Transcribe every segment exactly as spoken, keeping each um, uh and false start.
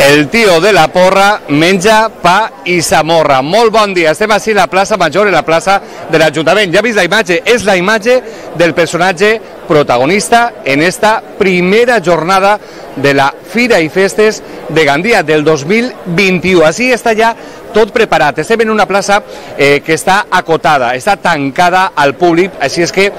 el tio de la porra menja pa i s'amorra. Molt bon dia, estem així a la plaça Major, a la plaça de l'Ajuntament. Ja ha vist la imatge? És la imatge del personatge protagonista en esta primera jornada de la Fira i Festes de Gandia del dos mil vint-i-u. Així està ja tot preparat. Estem en una plaça eh, que està acotada, està tancada al públic, així és que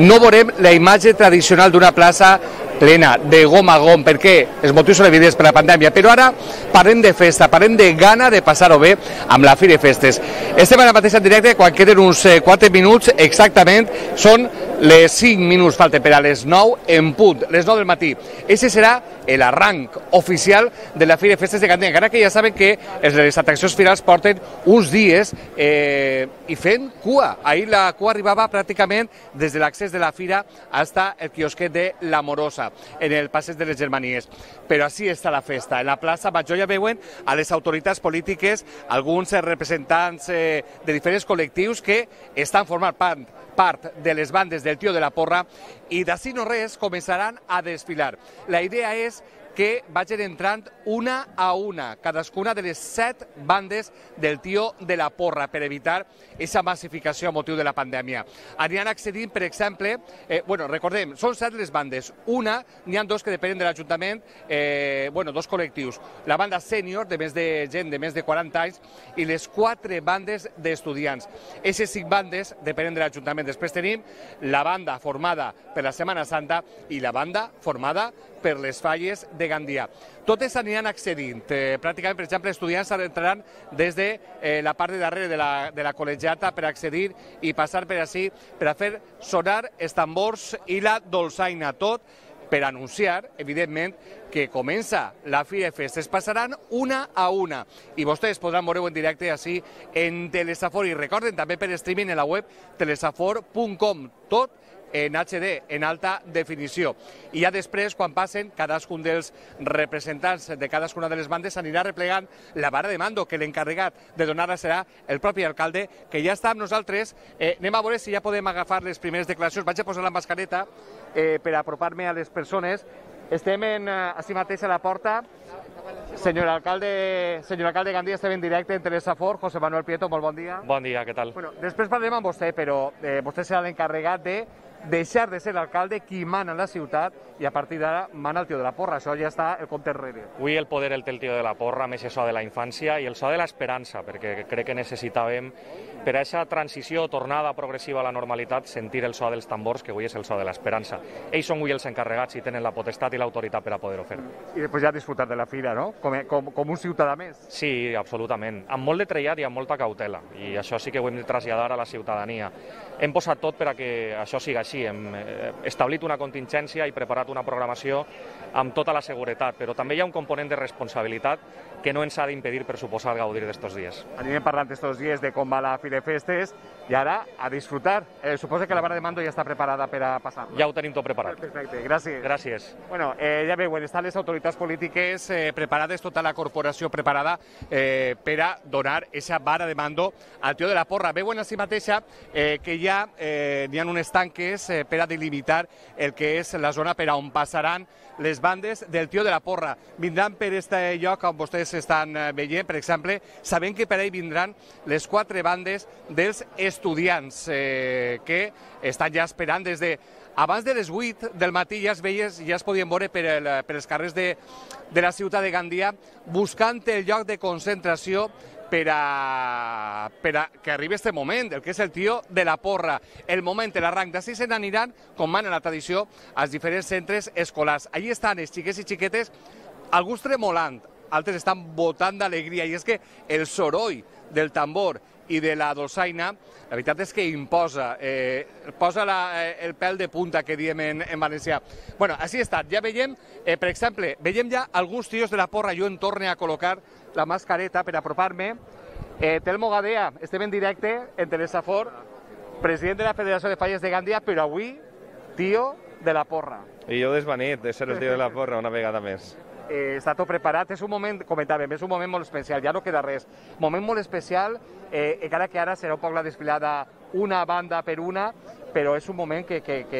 no veurem la imatge tradicional d'una plaça plena de gom a gom, perquè els motius són evidents per la pandèmia, però ara parlem de festa, parlem de gana de passar-ho bé amb la Fira i Festes. Estem ara mateix en directe, quan queden uns quatre minuts exactament, són les cinc minuts, falten per a les nou en punt, les nou del matí. Ese serà l'arranc oficial de la Fira i Festes de Gandia, encara que ja saben que les atraccions finals porten uns dies eh, i fent cua. Ahir la cua arribava pràcticament des de l'accés de la Fira fins al quiosquet de La Morosa, en el passeig de les Germanies. Però així està la festa. En la plaça Major ja veuen a les autoritats polítiques, alguns representants eh, de diferents col·lectius que estan formant part part de les bandes del tio de la porra i d'ací no res començaran a desfilar. La idea és que vagin entrant una a una, cadascuna de les set bandes del tio de la porra, per evitar aquesta massificació a motiu de la pandèmia. Aniran accedint, per exemple, eh, bueno, recordem, són set les bandes. Una, n'hi ha dos que depenen de l'Ajuntament, eh, bueno, dos col·lectius. La banda sènior, de més de gent de més de quaranta anys, i les quatre bandes d'estudiants. Aquestes cinc bandes depenen de l'Ajuntament. Després tenim la banda formada per la Setmana Santa i la banda formada per les falles de Gandia. Totes aniran accedint. Eh, pràcticament, per exemple, estudiants entraran des de eh, la part de darrere de la, de la col·legiata per accedir i passar per així, per a fer sonar els tambors i la dolçaina. Tot per anunciar, evidentment, que comença la Fira i Festes. Passaran una a una i vostès podran veure-ho en directe així en Telesafor. I recorden també per streaming en la web telesafor punt com. Tot en H D, en alta definició. I ja després, quan passen, cadascun dels representants de cadascuna de les bandes anirà replegant la vara de mando, que l'encarregat de donar-la serà el propi alcalde, que ja està amb nosaltres. Eh, anem a veure si ja podem agafar les primeres declaracions. Vaig a posar la mascareta eh, per apropar-me a les persones. Estem en, eh, així mateix a la porta. Senyor alcalde, senyor alcalde de Gandia, estem en directe en Telesafor. José Manuel Prieto, molt bon dia. Bon dia, què tal? Bueno, després parlem amb vostè, però eh, vostè serà l'encarregat de deixar de ser l'alcalde qui mana en la ciutat i a partir d'ara mana el tio de la porra. Això ja està el compte enrere. Avui el poder el té el tio de la porra, més el so de la infància i el so de l'esperança, perquè crec que necessitàvem per a aquesta transició, tornada progressiva a la normalitat, sentir el so dels tambors, que avui és el so de l'esperança. Ells són avui els encarregats i tenen la potestat i l'autoritat per a poder-ho fer. I després ja disfrutar de la fira, no? Com, com, com un ciutadà més. Sí, absolutament. Amb molt de trellat i amb molta cautela. I això sí que ho hem de traslladar a la ciutadania. Hem posat tot per a que això siga així. Hem establit una contingència i preparat una programació amb tota la seguretat, però també hi ha un component de responsabilitat que no ens ha d'impedir, per suposar, gaudir d'estos dies. Anirem parlant d'estos dies de com va la Fira i Festes i ara a disfrutar. Eh, suposo que la vara de mando ja està preparada per a passar. Ja ho tenim tot preparat. Perfecte, gràcies. Gràcies. Bueno, eh, ja veuen, estan les autoritats polítiques eh, preparades, tota la corporació preparada eh, per a donar aquesta vara de mando al tio de la porra. Veuen així mateixa eh, que ja eh, n'hi ha uns tanques eh, per a delimitar el que és la zona per a on passaran les bandes del tio de la porra. Vindran per aquest lloc on vostès estan veient, per exemple, sabent que per ahí vindran les quatre bandes dels estudiants eh, que estan ja esperant des de abans de les vuit del matí. Ja es veies, ja es podien veure per, el, per els carrers de, de la ciutat de Gandia buscant el lloc de concentració per a, per a que arribi aquest moment, el que és el tio de la porra, el moment, l'arranc. D'ací se n'aniran, com mana la tradició, als diferents centres escolars. Allí estan els xiquets i xiquetes, alguns tremolant, altres estan botant d'alegria, i és que el soroll del tambor i de la dolçaina, la veritat és que imposa, eh, posa la, eh, el pèl de punta, que diem en, en valencià. Bueno, així ha estat. Ja veiem, eh, per exemple, veiem ja alguns tios de la porra. Jo em torne a col·locar la mascareta per apropar-me. Eh, Telmo Gadea, estem en directe en Telesafor, president de la Federació de Falles de Gandia, però avui, tio de la porra. I jo desvanit de ser el tio de la porra una vegada més. Eh, està tot preparat, és un moment, comentàvem, és un moment molt especial, ja no queda res. Moment molt especial, eh, encara que ara serà un poc la desfilada una banda per una, però és un moment que, que, que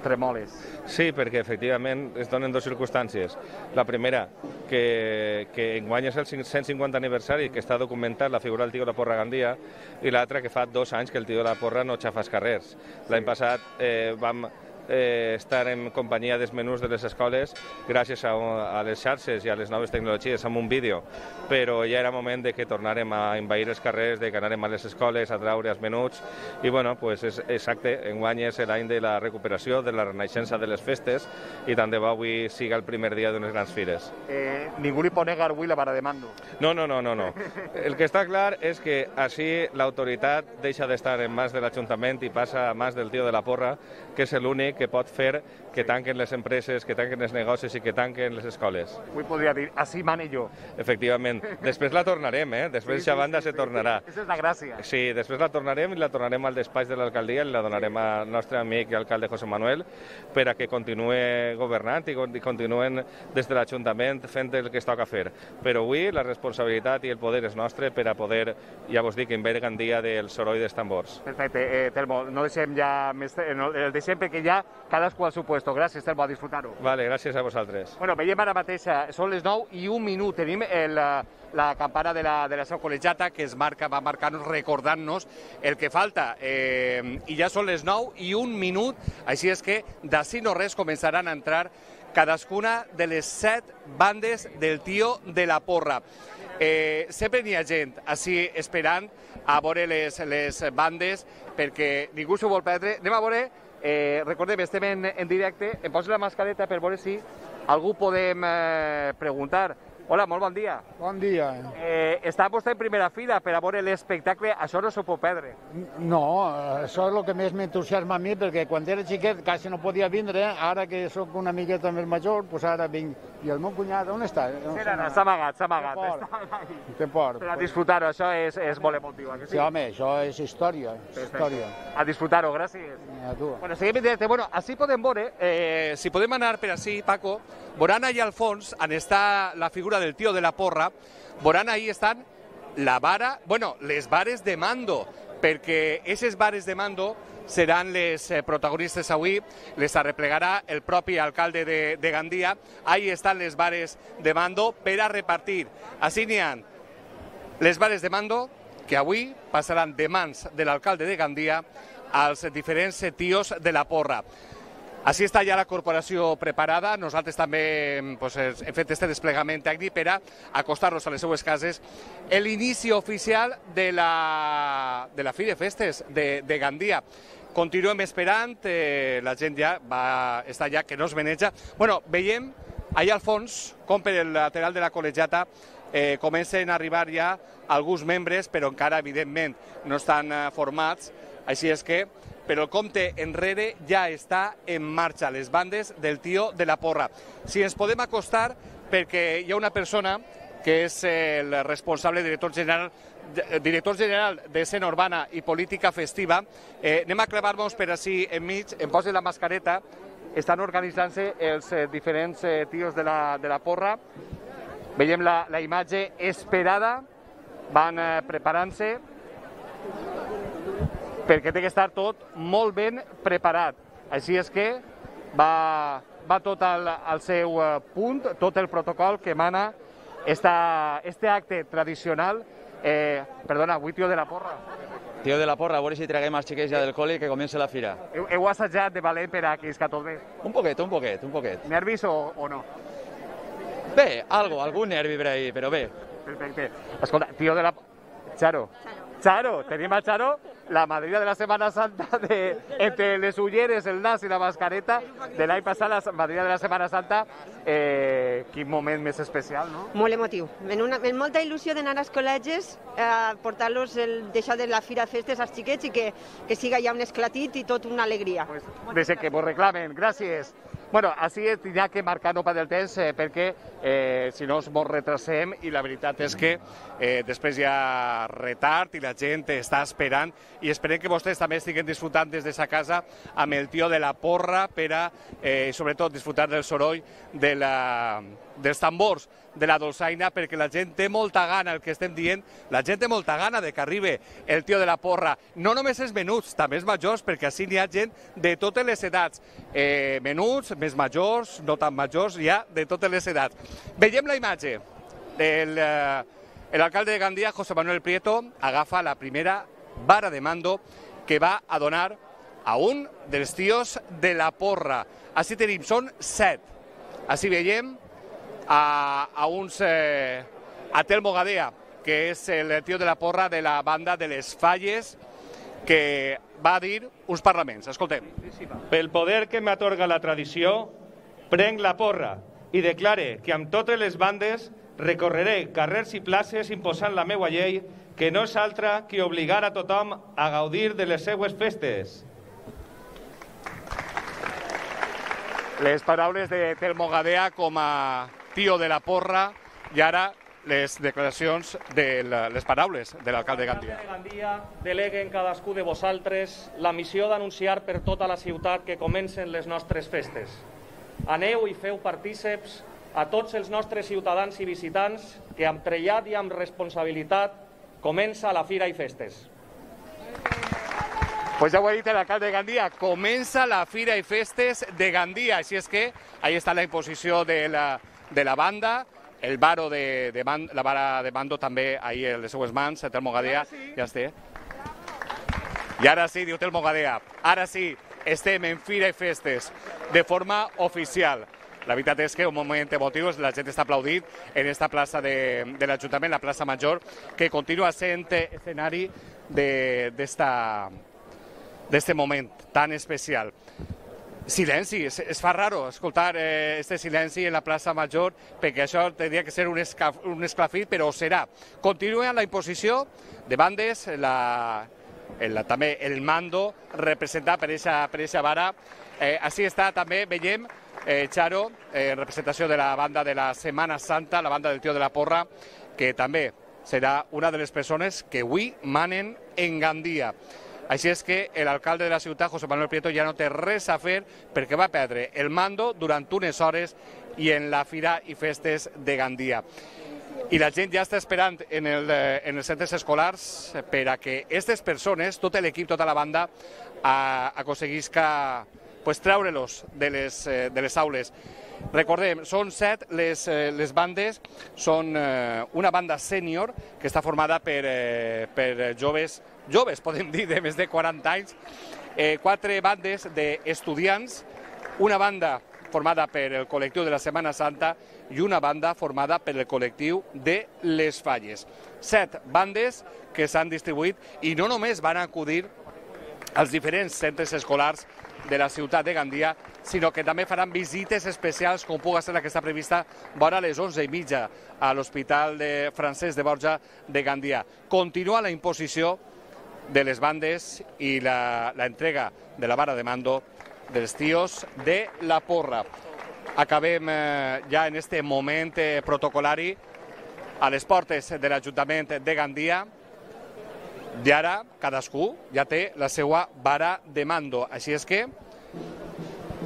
tremoles. Sí, perquè efectivament es donen dues circumstàncies. La primera, que, que enguany és el cent cinquanta aniversari, que està documentat la figura del tio de la Porra a Gandia, i l'altra que fa dos anys que el tio de la Porra no xafa els carrers. L'any passat eh, vam eh, estar en companyia dels menús de les escoles gràcies a, a les xarxes i a les noves tecnologies amb un vídeo, però ja era moment de que tornarem a envair els carrers, de que anarem a les escoles a traure els menuts i bueno, pues és exacte, enguany és l'any de la recuperació, de la renaixença de les festes i tant de bo avui siga el primer dia d'unes grans fires. Eh, ningú li pot negar avui la vara de mando. No, no, no, no, no. El que està clar és que així l'autoritat deixa d'estar en mans de l'Ajuntament i passa a mans del tio de la Porra, que és l'únic que pot fer que tanquen les empreses, que tanquen els negocis i que tanquen les escoles. Avui podria dir, així mane jo. Efectivament. Després la tornarem, eh? Després sí, sí, banda sí, se sí, tornarà. Sí. Aquesta és la gràcia. Sí, després la tornarem i la tornarem al despatx de l'alcaldia i la donarem al nostre amic i alcalde José Manuel per a que continuï governant i continuen des de l'Ajuntament fent el que es toca fer. Però avui la responsabilitat i el poder és nostre per a poder, ja vos dic, envair Gandia del soroll dels tambors. Perfecte, eh, Telmo, no deixem ja més, no, el deixem perquè ja cadascú al seu puesto. Gràcies, Telmo, a disfrutar-ho. Vale, gràcies a vosaltres. Bueno, veiem ara mateix, són les nou i un minut. Tenim el, la campana de la, de la seu col·legiata que es marca, va marcar-nos, recordant-nos el que falta. Eh, I ja són les nou i un minut, així és que d'ací no res començaran a entrar cadascuna de les set bandes del tio de la Porra. Eh, sempre n'hi ha gent així esperant a veure les, les bandes perquè ningú s'ho vol perdre. Anem a veure, eh, recordem, estem en, en directe, em poso la mascareta per veure si algú podem eh, preguntar. Hola, molt bon dia. Bon dia. Eh, està vostè en primera fila per a veure l'espectacle, això no s'ho pot perdre. No, això és el que més m'entusiasma a mi, perquè quan era xiquet quasi no podia vindre, ara que sóc una miqueta més major, doncs ara vinc. I el meu cunyat, on està? Sí, no, no, s'ha amagat, s'ha amagat. Té por. Per a disfrutar-ho, això és, és molt emotiu. Sí, home, això és història, història. A disfrutar-ho, gràcies. A tu. Bueno, seguim en directe. Bueno, així podem veure, eh, si podem anar per així, Paco, veuran allà al fons, on està la figura del tio de la Porra, veuran ahí estan la vara, bueno, les vares de mando, perquè aquestes vares de mando seran les eh, protagonistes avui, les arreplegarà el propi alcalde de, de Gandia. Ahí estan les vares de mando per a repartir. Així n'hi ha les vares de mando que avui passaran de mans de l'alcalde de Gandia als diferents tios de la Porra. Així està ja la corporació preparada. Nosaltres també pues, hem fet aquest desplegament tècnic per a acostar-nos a les seues cases. L'inici oficial de la, de la Fi de Festes de, de Gandia. Continuem esperant, eh, la gent ja va estar ja que no es veneja. Bueno, veiem allà al fons, com per el lateral de la col·legiata, eh, comencen a arribar ja alguns membres, però encara, evidentment, no estan eh, formats. Així és que, però el compte enrere ja està en marxa, les bandes del tio de la Porra. Si ens podem acostar, perquè hi ha una persona que és el responsable, director general, director general d'Escena Urbana i Política Festiva. Eh, anem a clavar-nos per així enmig, em posi la mascareta. Estan organitzant-se els eh, diferents eh, tios de la, de la Porra. Veiem la, la imatge esperada, van eh, preparant-se, perquè té que estar tot molt ben preparat. Així és que va, va tot al, al seu punt, tot el protocol que mana esta, este acte tradicional. Eh, perdona, avui tio de la Porra. Tio de la Porra, a veure si traguem els xiquets ja del col·le que comença la fira. Heu, heu assajat de valent per a que isca tot bé? Un poquet, un poquet, un poquet. Nervis o, o no? Bé, algo, algun nervi per ahí, però bé. Perfecte. Escolta, tio de la... Charo. Charo, tenim a Charo, la madrina de la Setmana Santa, de, entre les ulleres, el nas i la mascareta, de l'any passat, la madrina de la Setmana Santa. Eh, quin moment més especial, no? Molt emotiu. En, una, en molta il·lusió d'anar als col·legis, a eh, portar-los d'això de la Fira Festes als xiquets i que, que siga ja un esclatit i tot una alegria. Pues, deixe que vos reclamen. Gràcies. Bueno, així tindrà que marcar no per del temps eh, perquè eh, si no ens molt retrasem i la veritat és que eh, després hi ha retard i la gent està esperant i esperem que vostès també estiguen disfrutant des de sa casa amb el tio de la porra per a, eh, sobretot, disfrutar del soroll de la, dels tambors de la dolçaina perquè la gent té molta gana, el que estem dient, la gent té molta gana de que arribi el tio de la porra. No només els menuts, també els majors, perquè així n'hi ha gent de totes les edats. Eh, menuts, més majors, no tan majors, hi ha de totes les edats. Veiem la imatge. El, eh, l'alcalde de Gandia, José Manuel Prieto, agafa la primera vara de mando que va a donar a un dels tios de la porra. Així tenim, són set. Així veiem a, a uns eh, a Telmo Gadea, que és el tio de la porra de la banda de les Falles, que va dir uns parlaments. Escoltem. Pel poder que m'atorga la tradició, prenc la porra i declare que amb totes les bandes recorreré carrers i places imposant la meua llei, que no és altra que obligar a tothom a gaudir de les seues festes. Les paraules de Telmo Gadea com a tio de la porra i ara les declaracions de la, les paraules de l'alcalde de Gandia. L'alcalde de Gandia delega en cadascú de vosaltres la missió d'anunciar per tota la ciutat que comencen les nostres festes. Aneu i feu partíceps a tots els nostres ciutadans i visitants que amb trellat i amb responsabilitat comença la Fira i Festes. Pues ja ho ha dit l'alcalde de Gandia, comença la Fira i Festes de Gandia, així és que ahí està la imposició de la, de la banda, el varo de, de man, la vara de mando també ahí en les seues mans, Telmo Gadea, ja està. I ara sí, diu Telmo Gadea, ara sí, estem en Fira i Festes de forma oficial. La veritat és que un moment emotiu, la gent està aplaudint en esta plaça de, de l'Ajuntament, la plaça Major, que continua sent escenari d'esta d'este moment tan especial. Silenci, es, es fa raro escoltar eh, este silenci en la plaça Major, perquè això tindria que ser un, escaf, un esclafit, però serà. Continua la imposició de bandes, la, el, també el mando representat per aquesta vara. Eh, així està també, veiem, eh, Charo, en eh, representació de la banda de la Setmana Santa, la banda del tio de la porra, que també serà una de les persones que avui manen en Gandia. Així és que l'alcalde de la ciutat, José Manuel Prieto, ja no té res a fer perquè va perdre el mando durant unes hores i en la Fira i Festes de Gandia. I la gent ja està esperant en, el, en els centres escolars per a que aquestes persones, tot l'equip, tota la banda, aconseguisca pues, treure-los de, les, de les aules. Recordem, són set les, les bandes, són una banda sènior que està formada per, per joves, joves podem dir, de més de quaranta anys, eh, quatre bandes d'estudiants, una banda formada per el col·lectiu de la Setmana Santa i una banda formada per el col·lectiu de les Falles. Set bandes que s'han distribuït i no només van acudir als diferents centres escolars de la ciutat de Gandia, sinó que també faran visites especials, com pugui ser la que està prevista vora les onze i mitja a l'Hospital de Francesc de Borja de Gandia. Continua la imposició de les bandes i l'entrega de la vara de mando dels tios de la porra. Acabem eh, ja en este moment eh, protocolari a les portes de l'Ajuntament de Gandia i ara cadascú ja té la seva vara de mando. Així és que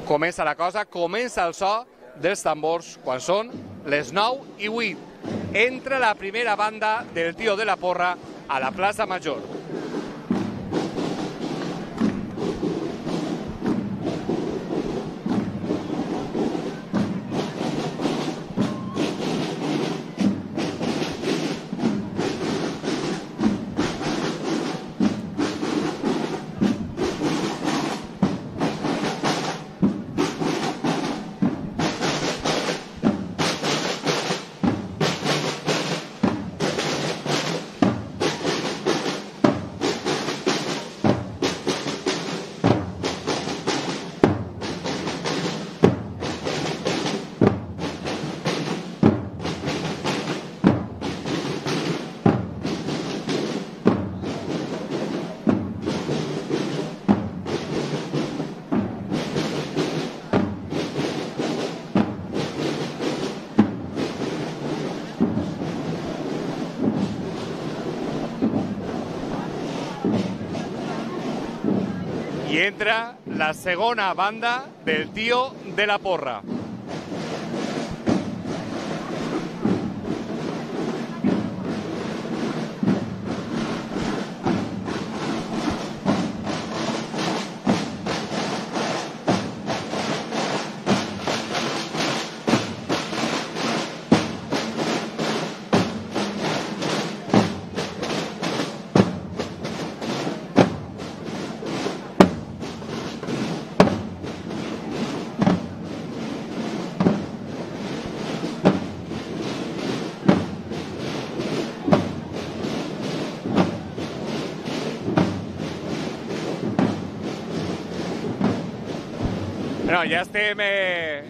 comença la cosa, comença el so dels tambors quan són les nou i vuit. Entra la primera banda del tio de la porra a la plaça Major. i entra la segona banda del Tío de la Porra. Bueno, ja estem eh,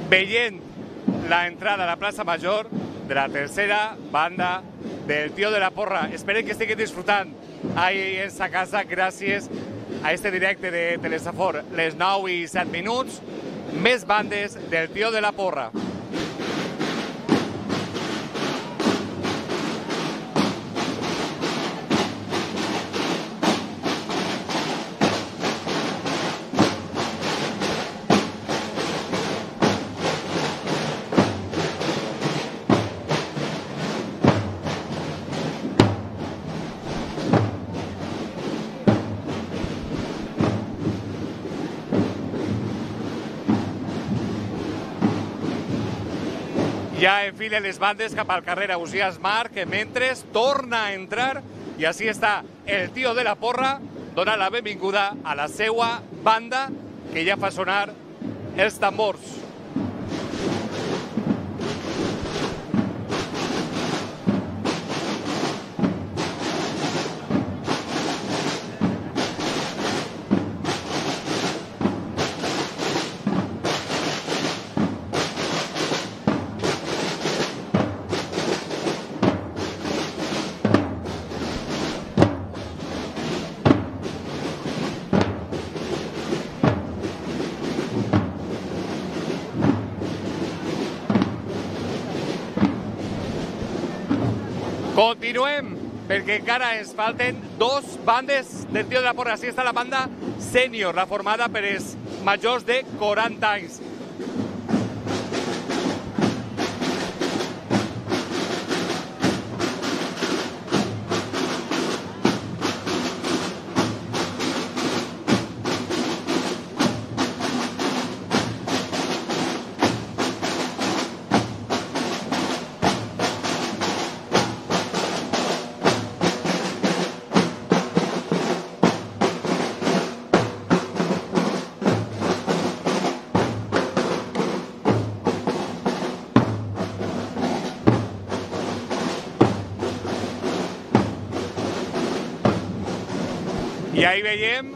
veient la entrada a la plaça Major de la tercera banda del Tío de la Porra. Espero que estiguin disfrutant ahí en sa casa gràcies a este directe de Telesafor. Les nou i set minuts, més bandes del Tío de la Porra. Ja enfilen les bandes cap al carrer Ausiàs Marc, que mentre torna a entrar, i així està el Tío de la Porra donant la benvinguda a la seva banda, que ja fa sonar els tambors. Continuem, perquè encara ens falten dos bandes del Tío de la Porra. Així està la banda sènior, la formada per els majors de quaranta anys. I ahí veiem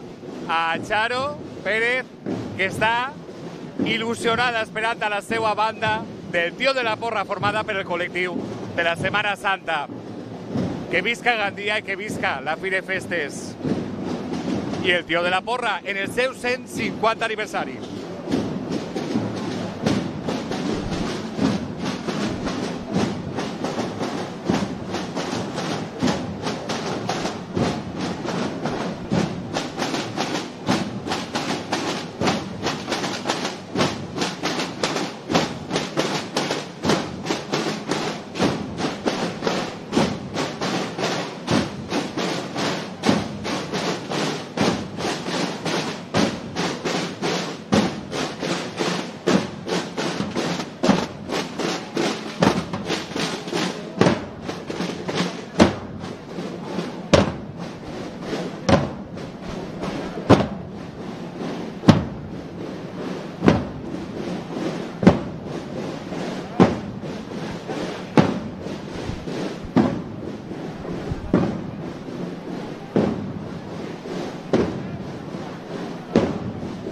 a Charo Pérez, que està il·lusionada esperant a la seva banda del Tío de la Porra, formada per el col·lectiu de la Setmana Santa. Que visca Gandia i que visca la Fira de Festes. I el Tío de la Porra en el seu cent cinquanta aniversari.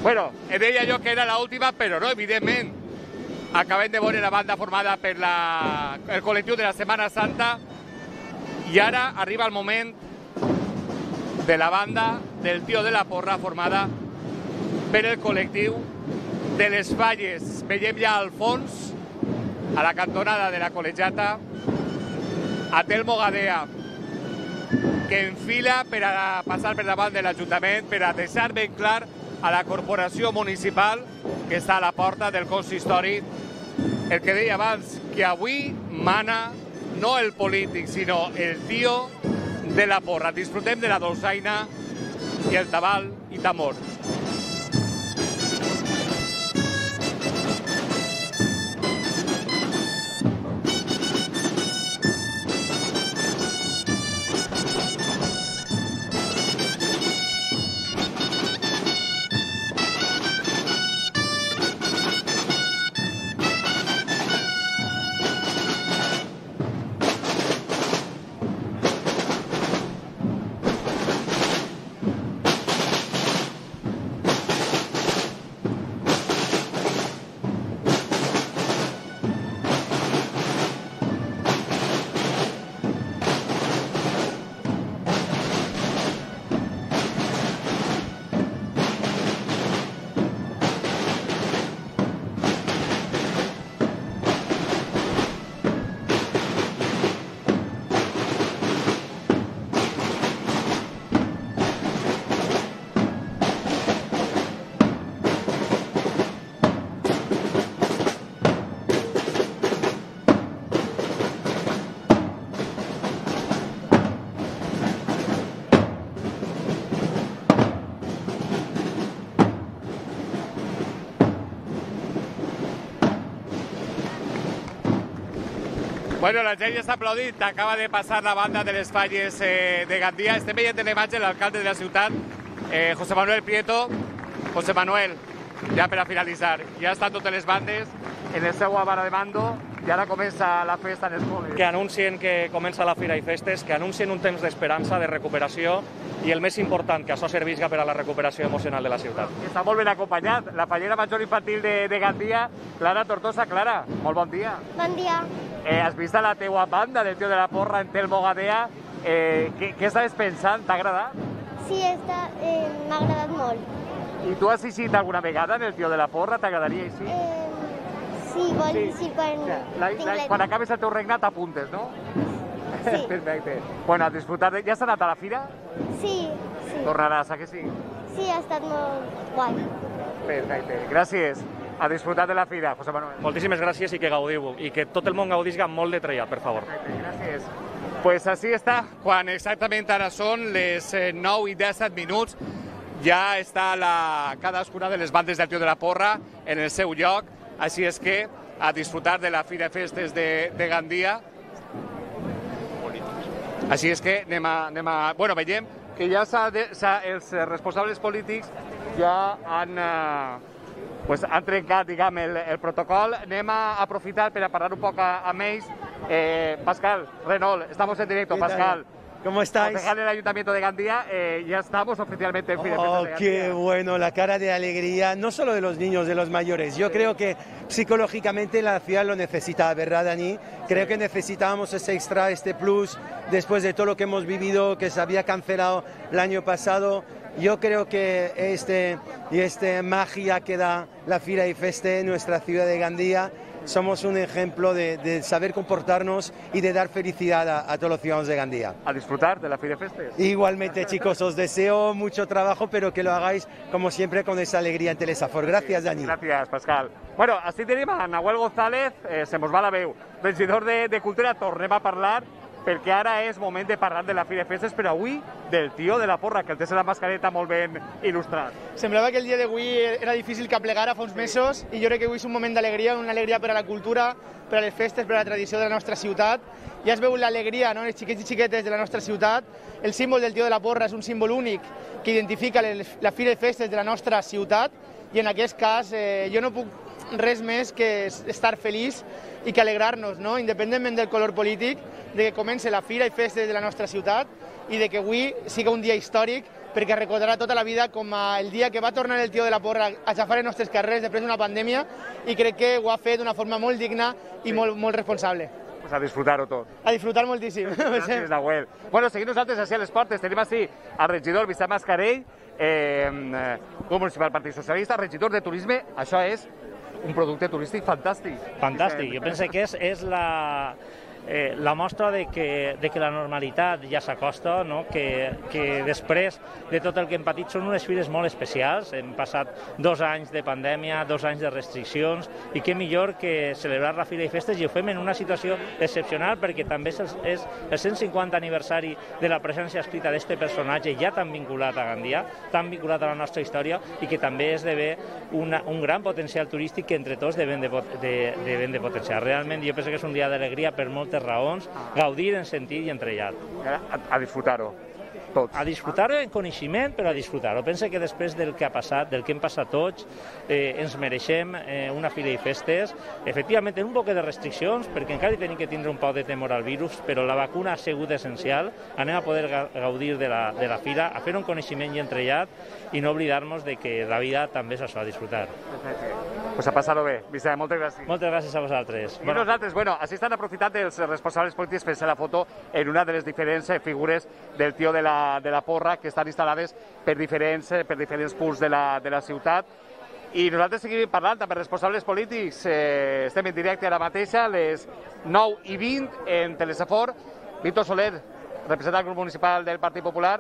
Bueno, deia jo que era l'última, però no, evidentment. Acabem de veure la banda formada per la, el col·lectiu de la Setmana Santa i ara arriba el moment de la banda del Tío de la Porra, formada per el col·lectiu de les Falles. Veiem ja al fons, a la cantonada de la col·legiata, a Telmo Gadea, que enfila per a passar per davant de l'Ajuntament, per a deixar ben clar a la corporació municipal que està a la porta del consistori el que deia abans, que avui mana no el polític, sinó el tio de la porra. Disfrutem de la dolçaina i el tabal i tamor. Bueno, la gent ja està aplaudint, acaba de passar la banda de les falles eh, de Gandia. Estem veient en l'imatge l'alcalde de la ciutat, eh, José Manuel Prieto. José Manuel, ja per a finalitzar, ja estan totes les bandes en el seu vara de mando i ara comença la festa en els col·les. Que anuncien que comença la Fira i Festes, que anuncien un temps d'esperança, de recuperació i el més important, que això servisca per a la recuperació emocional de la ciutat. Està molt ben acompanyat, la fallera major infantil de, de Gandia, Clara Tortosa. Clara, molt bon dia. Bon dia. Eh, has vist a la teua banda del tio de la porra en Telmo Gadea. Eh, què, què estaves pensant? T'ha agradat? Sí, està, eh, m'ha agradat molt. I tu has assistit alguna vegada en el tio de la porra? T'agradaria així? Eh, sí, vol Sí. sí, quan La, tinc la, la- quan acabes el teu regnat t'apuntes, no? Sí. Perfecte. Bueno, a disfrutar de... Ja has anat a la fira? Sí, sí. Tornaràs, a que sí? Sí, ha estat molt guai. Perfecte. Gràcies. A disfrutar de la fira, José Manuel. Moltíssimes gràcies i que gaudiu, i que tot el món gaudisca molt de trellat, per favor. Gràcies. Pues així està, quan exactament ara són les eh, nou i disset minuts, ja està la, cadascuna de les bandes del Tio de la Porra en el seu lloc, així és que a disfrutar de la Fira de Festes de, de Gandia. Així és que anem a... Anem a bueno, veiem que ja s'ha de, s'ha, els responsables polítics ja han... Eh, pues han trencat, diguem, el, el protocol. Anem a aprofitar per a parlar un poc amb ells. Eh, Pascal, Renault, estamos en directo. Pascal, ¿Cómo estáis? concejal del Ayuntamiento de Gandía, eh, ya estamos oficialmente en Fira de Festas Oh, de qué Gandía. bueno, la cara de alegría, no solo de los niños, de los mayores. Yo creo que psicológicamente la ciudad lo necesita, ¿verdad, Dani? Creo que necesitábamos ese extra, este plus, después de todo lo que hemos vivido, que se había cancelado el año pasado. Yo creo que este y este magia que da la Fira y Feste en nuestra ciudad de Gandía, somos un ejemplo de, de saber comportarnos y de dar felicidad a, a todos los ciudadanos de Gandía. A disfrutar de la Fira de Festes. Igualmente, chicos, os deseo mucho trabajo, pero que lo hagáis, como siempre, con esa alegría en Telesafor. Gracias, Dani. Gràcies, Pascal. Bueno, així tenim a Nahuel González, eh, se mos va la veu, regidor de, de Cultura, tornem a parlar, perquè ara és moment de parlar de la Fira de Festes, però avui del Tio de la Porra, que el té la mascareta molt ben il·lustrat. Semblava que el dia d'avui era difícil que aplegara fa uns mesos i jo crec que avui és un moment d'alegria, una alegria per a la cultura, per a les festes, per a la tradició de la nostra ciutat. Ja es veu l'alegria, no?, els xiquets i xiquetes de la nostra ciutat. El símbol del Tio de la Porra és un símbol únic que identifica les, la Fira de Festes de la nostra ciutat i en aquest cas eh, jo no puc res més que estar feliç i que alegrar-nos, no?, independentment del color polític, de que comenci la Fira i Festes de la nostra ciutat i de que avui siga un dia històric perquè recordarà tota la vida com el dia que va tornar el Tio de la Porra a xafar els nostres carrers després d'una pandèmia i crec que ho ha fet d'una forma molt digna i molt, molt responsable. Pues a disfrutar-ho tot. A disfrutar moltíssim. Gràcies, Nahuel. Bueno, seguim nosaltres així a les portes. Tenim així al regidor Vicent Mascarell, eh, grup municipal Partit Socialista, regidor de turisme. Això és un producte turístic fantàstic. Fantàstic. Jo penso que és, és la, eh, la mostra de que, de que la normalitat ja s'acosta, no? que, que després de tot el que hem patit són unes fires molt especials. Hem passat dos anys de pandèmia, dos anys de restriccions, i què millor que celebrar la Fira i Festes, i ho fem en una situació excepcional perquè també és el, és el cent cinquanta aniversari de la presència escrita d'aquest personatge ja tan vinculat a Gandia, tan vinculat a la nostra història, i que també esdevé una, un gran potencial turístic que entre tots devem de, de, devem de potenciar. Realment jo penso que és un dia d'alegria per moltes raons, gaudir en sentit i entrellat. A, a disfrutar-ho. Tots. A disfrutar-ho en coneixement, però a disfrutar-ho. Penso que després del que ha passat, del que hem passat tots, eh, ens mereixem eh, una Fira i Festes, efectivament en un poc de restriccions, perquè encara hi tenim que tindre un poc de temor al virus, però la vacuna ha sigut essencial. Anem a poder gaudir de la, de la Fira, a fer un coneixement i entrellat, i no oblidar-nos de que la vida també és això, a disfrutar. Pues a passar-ho bé. Vicent, moltes gràcies. Moltes gràcies a vosaltres. I nosaltres, bueno, així estan aprofitant els responsables polítics per fer la foto en una de les diferents figures del tio de la, de la porra que estan instal·lades per diferents, per diferents punts de la, de la ciutat. I nosaltres seguim parlant amb els responsables polítics. Eh, estem en directe ara mateix a les nou i vint en Telesafor. Víctor Soler, representant del grup municipal del Partit Popular.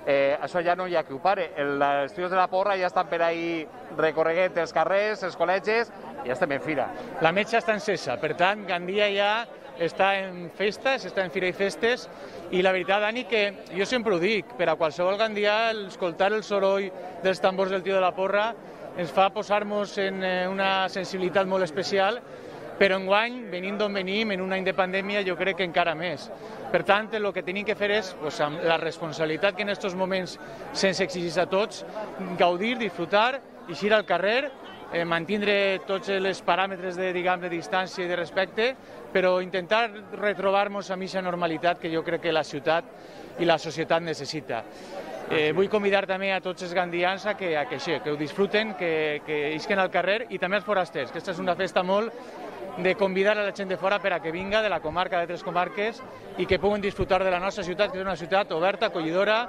Eh, això ja no hi ha qui ho pare. Els tios de la porra ja estan per ahí recorreguent els carrers, els col·legis, i ja estem en fira. La metxa està encesa, per tant, Gandia ja està en festes, està en Fira i Festes, i la veritat, Dani, que jo sempre ho dic, per a qualsevol gandià, escoltar el soroll dels tambors del tio de la porra ens fa posar-nos en una sensibilitat molt especial, però enguany, venint d'on venim, en un any de pandèmia, jo crec que encara més. Per tant, el que tenim que fer és, pues, amb la responsabilitat que en aquests moments se'ns exigeix a tots, gaudir, disfrutar, eixir al carrer, eh, mantindre tots els paràmetres de, diguem, de distància i de respecte, però intentar retrobar-nos amb aquesta normalitat que jo crec que la ciutat i la societat necessita. Eh, vull convidar també a tots els gandians a que, a que, que ho disfruten, que, que isquen al carrer, i també als forasters, que aquesta és una festa molt de convidar a la gent de fora per a que vinga de la comarca, de tres comarques, i que puguen disfrutar de la nostra ciutat, que és una ciutat oberta, acollidora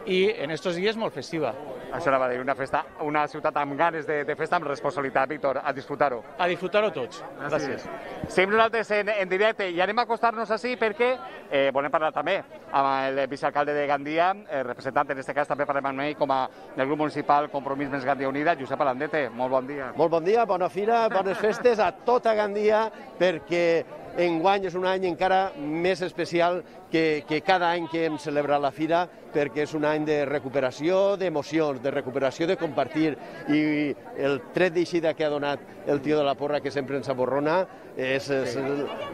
i en aquests dies molt festiva. Això anava a dir, una, festa, una ciutat amb ganes de, de festa, amb responsabilitat, Víctor, a disfrutar-ho. A disfrutar-ho tots. Gràcies. Seguim nosaltres en, en directe i anem a acostar-nos així perquè eh, volem parlar també amb el vicealcalde de Gandia, eh, representant, en aquest cas també parlem amb ell com a del grup municipal Compromís Més Gandia Unida, Josep Alandete, molt bon dia. Molt bon dia, bona fira, bones festes a tota Gandia, perquè enguany és un any encara més especial que, que cada any que hem celebrat la fira, perquè és un any de recuperació d'emocions, de recuperació de compartir, i el tret d'eixida que ha donat el tio de la porra, que sempre ens aborrona, és, és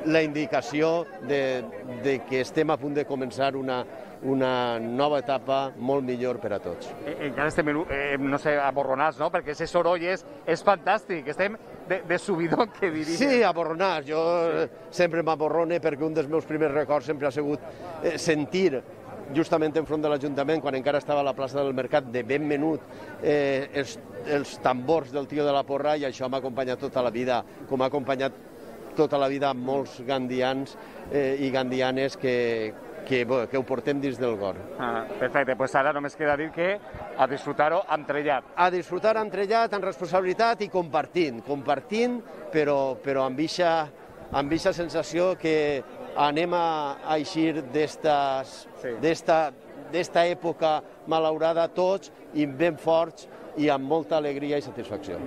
la indicació de, de que estem a punt de començar una, una nova etapa molt millor per a tots. Encara estem, eh, no sé, aborronats, no? Perquè aquest soroll és, és fantàstic, estem de, de subidón, que diria. Sí, aborronats. Jo sí. sempre m'aborrone perquè un dels meus primers records sempre ha sigut eh, sentir justament enfront de l'Ajuntament, quan encara estava a la plaça del Mercat, de ben menut, eh, els, els tambors del tio de la porra, i això m'ha acompanyat tota la vida, com ha acompanyat tota la vida molts gandians eh, i gandianes que, que, bueno, que ho portem dins del cor. Ah, perfecte, doncs ara només queda dir que a disfrutar-ho amb trellat. A disfrutar amb trellat, amb responsabilitat i compartint, compartint, però, però amb aquesta sensació que anem a eixir d'esta sí. època malaurada tots, i ben forts i amb molta alegria i satisfacció.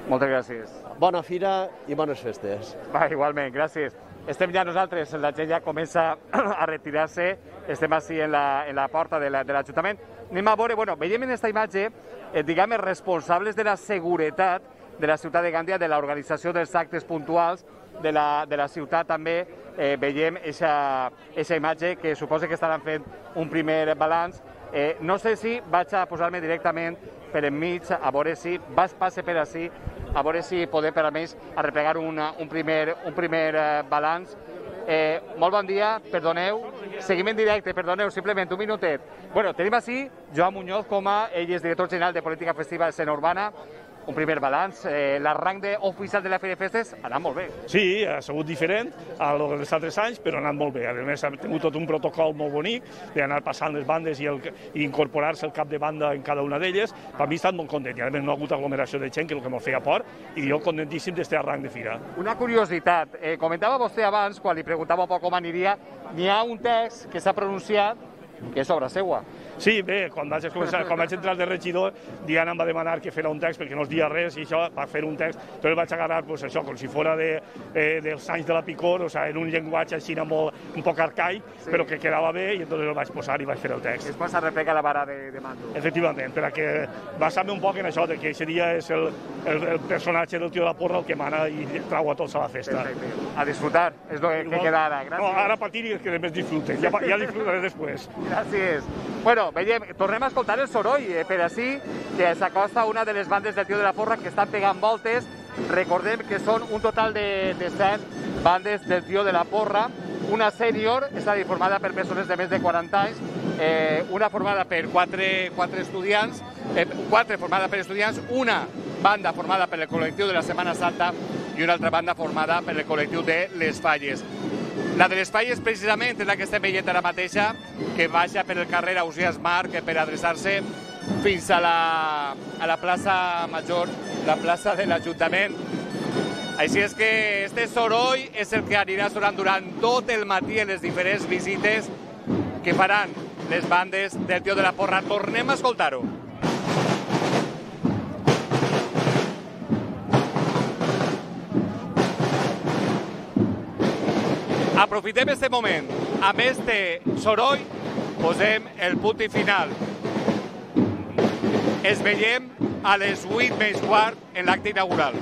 Moltes gràcies. Bona fira i bones festes. Va, igualment, gràcies. Estem ja nosaltres, la gent ja comença a retirar-se, estem així en la, en la porta de l'Ajuntament. Anem a veure, bueno, veiem en aquesta imatge, eh, diguem, els responsables de la seguretat de la ciutat de Gandia, de l'organització dels actes puntuals de la, de la ciutat també, eh, veiem aquesta imatge que suposa que estaran fent un primer balanç. Eh, no sé si vaig a posar-me directament per enmig, a veure si vas passe per així, a veure si podem per almenys arreplegar una, un primer, un primer eh, balanç. Eh, molt bon dia, perdoneu, seguim en directe, perdoneu, simplement un minutet. Bueno, tenim així Joan Muñoz com a, ell és director general de Política Festiva de Escena Urbana. un primer balanç. L'arranc oficial de la Fira de Festes ha anat molt bé. Sí, ha sigut diferent a lo dels altres anys, però ha anat molt bé. A més, ha tingut tot un protocol molt bonic d'anar passant les bandes i, el, i incorporar-se el cap de banda en cada una d'elles. Per mi he estat molt content i a més no ha hagut aglomeració de gent, que és el que m'ho feia por, i jo contentíssim d'este arranc de fira. Una curiositat, eh, comentava vostè abans, quan li preguntava un poc com aniria, n'hi ha un text que s'ha pronunciat que és obra seua. Sí, bé, quan vaig, començar, quan vaig entrar de regidor, Diana em va demanar que fera un text perquè no es dia res i això, va fer un text, però el vaig agarrar pues, això, com si fos de, eh, dels anys de la Picor, o sea, en un llenguatge així molt, un poc arcaic, sí. Però que quedava bé i entonces el vaig posar i vaig fer el text. Després es replega la vara de, de mando. Efectivament, per a que basar-me un poc en això, de que aquest dia és el, el, el personatge del tio de la porra el que mana i trau a tots a la festa. Perfecte. A disfrutar, és el que, que queda ara. Gràcies. No, ara patir i que més disfruten, ja, ja disfrutaré després. Gràcies. Bueno, veiem, tornem a escoltar el soroll, eh, per així, que s'acosta una de les bandes del Tio de la Porra que estan pegant voltes. Recordem que són un total de, de set bandes del Tio de la Porra, una sènior, és a dir, formada per persones de més de quaranta anys, eh, una formada per quatre, quatre estudiants, eh, quatre formada per estudiants, una banda formada per el col·lectiu de la Setmana Santa i una altra banda formada per el col·lectiu de les Falles. La de les Falles, precisament, és la que estem veient ara mateixa, que baixa per el carrer Ausiàs Marc per adreçar-se fins a la, a la plaça Major, la plaça de l'Ajuntament. Així és que este soroll és el que anirà sonant durant tot el matí en les diferents visites que faran les bandes del Tio de la Porra. Tornem a escoltar-ho. Aprofitem aquest moment. Amb este soroll posem el punt i final. Es veiem a les vuit menys quart en l'acte inaugural.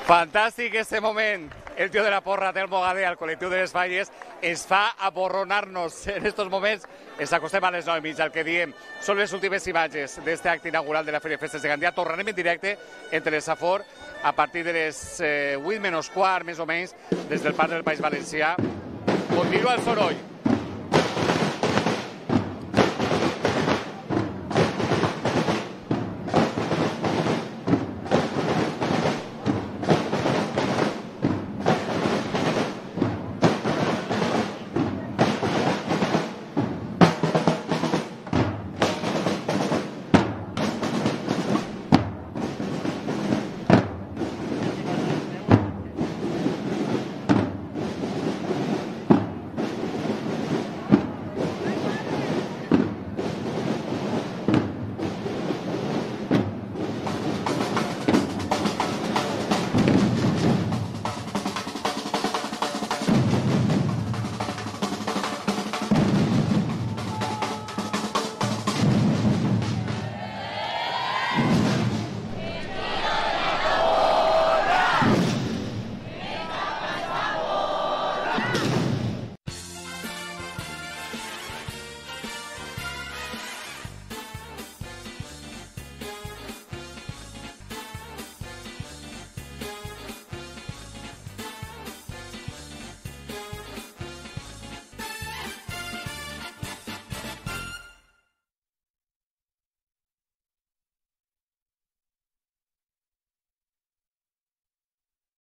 Fantàstic este moment. El Tio de la Porra té el Bogader al col·lectiu de les Falles ens fa aborronar-nos en aquests moments. Ens acostem a les nou i mitja, el que diem són les últimes imatges d'aquest acte inaugural de la Fira de Festes de Gandia. Tornarem en directe entre les Safor a partir de les vuit menys quart, més o menys, des del Parc del País Valencià. Continua el soroll.